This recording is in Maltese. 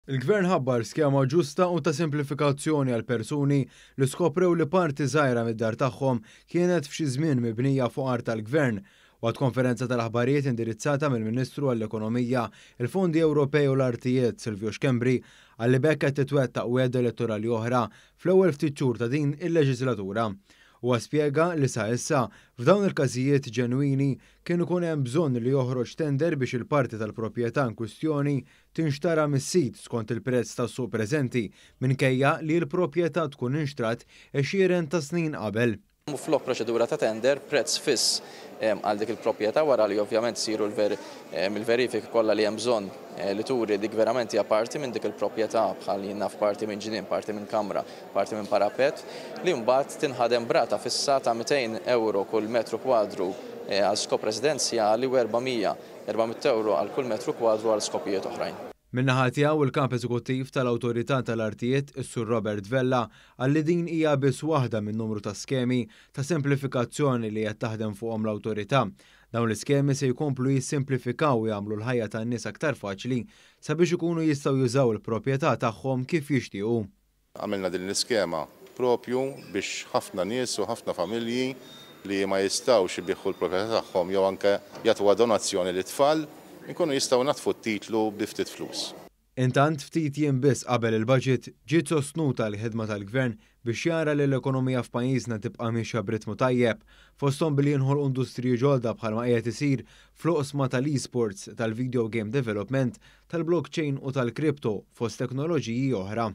Il-Gvern ħabbar skema ġusta u ta' simplifikazzjoni għal persuni li skoprew li parti żgħira mid-dar tagħhom kienet f'xi żmien mibnija fuq art tal-Gvern. Waqt konferenza tal-aħbarijiet indirizzata mill-Ministru għall-Ekonomija, il-Fondi Ewropej u l-Artijiet Silvio Schembri qal li b'hekk qed titwettaq wegħda elettorali oħra fl-ewwel ftit xhur ta' din il-leġislatura. Huwa spjega li sa issa, f'dawn il-każijiet ġenwini, kien ikun hemm bżonn li joħroġ tender biex il-parti tal-proprjetà inkwistjoni tinxtara mis-sid skont il-prezz tas-suq preżenti, minkejja li l-proprjetà tkun inxtrat għexieren ta' snin qabel. Flok proċedura ta' tender, prezz fiss għal dik il-proprjetà wara li ovvjament isiru l-verifiki kollha li hemm bżonn li turi dik verament hija parti minn dik il-proprjetà bħal jien naf parti minn ġnien, parti minn kamra, parti minn parapet, li mbagħad tinħadem b'rata fissa ta' 200 euro kull metru kwadru għal skop residenzjali u 400 400 euro għal kull metru kwadru għal skopijiet oħrajn. Min-naħa tiegħu il-Kap Eżekuttiv tal-Awtorità tal-Artijiet, is-Sur Robert Vella, qal li din hija biss waħda minn numru ta' skemi ta' semplifikazzjoni li qed taħdem fuqhom l-awtorità. Dawn l-iskemi se jkomplu jissimplifikaw u jagħmlu l-ħajja tan-nies aktar faċli sabiex ikunu jistgħu jużaw il-proprjetà tagħhom kif jixtiequ. Għamilna din l-iskema propju biex ħafna nies u ħafna familji li ma jistgħux ibigħu l-proprjetà tagħhom jew anke jagħtuha donazzjoni lit-tfal, inkunu jistgħu naddfu t-titlu bi ftit flus. Intant ftit jiem biss qabel il-budget ġiet sostnuta l-ħidma tal-Gvern biex jara li l-ekonomija f'pajjiżna tibqa' miexja b'ritmu tajjeb, fosthom billi jinħolqu industriji ġodda bħalma qiegħed isir fl-oqsma tal-esports, tal-video game development, tal-blockchain u tal-crypto fost teknoloġiji oħra.